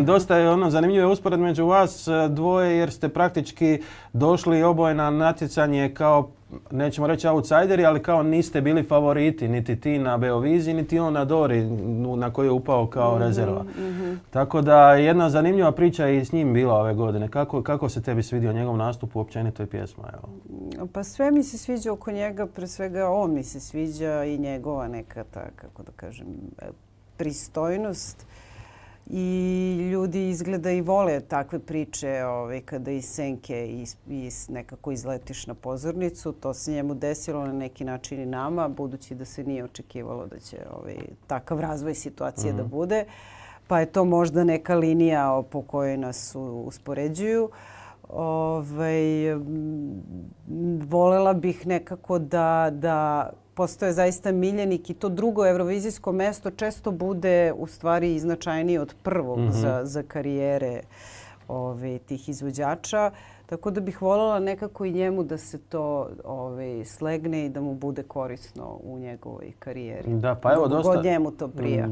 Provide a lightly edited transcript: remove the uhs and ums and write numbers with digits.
dosta je zanimljiva usporedba među vas dvoje jer ste praktički došli oboje na natjecanje kao, nećemo reći outsideri, ali kao niste bili favoriti, niti ti na Beoviziji, niti on na Dori na koji je upao kao rezerva. Tako da jedna zanimljiva priča je i s njim bila ove godine. Kako se tebi svidio njegov nastup u općenitoj pjesma? Evo. Pa sve mi se sviđa oko njega, pre svega on mi se sviđa i njegova neka ta, kako da kažem, pristojnost. I ljudi izgleda i vole takve priče kada iz senke nekako izletiš na pozornicu. To se njemu desilo na neki način i nama, budući da se nije očekivalo da će takav razvoj situacije da bude. Pa je to možda neka linija po kojoj nas uspoređuju. Volela bih nekako da postoje zaista miljenik i to drugo eurovizijsko mesto često bude u stvari značajnije od prvog za karijere tih izvođača. Tako da bih voljela nekako i njemu da se to slegne i da mu bude korisno u njegovoj karijeri. Da, pa evo dosta. God njemu to prija.